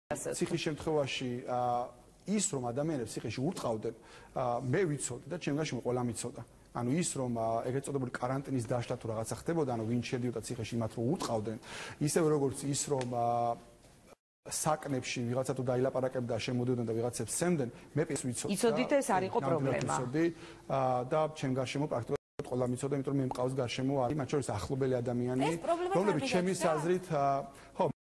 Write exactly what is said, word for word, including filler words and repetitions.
ციხის შემთხვევაში ის რომ ადამიანებს ციხეში ურტყავდნენ, მე ვიცოდი და ჩემ გარშემო ყველა მიცოდა. ანუ ის რომ ეგრეთ წოდებული каранტინის დაშლა თუ რაღაცა ხდებოდა, ანუ ვინ შედიოდა ციხეში მათ რომ ურტყავდნენ, ისევე როგორც ის რომ საკნებში ვიღაცა თუ დაილაპარაკებდა, შემოდიოდნენ და ვიღაცებს სცემდნენ, მე ეს ვიცოდი. იცოდით ეს არ იყო პრობლემა. და ჩემ გარშემო პრაქტიკულად ყველა მიცოდა, იმიტომ რომ მე მყავს გარშემო არის მათ შორის ახლობელი ადამიანები, რომლებიც ჩემის აზრით, ხო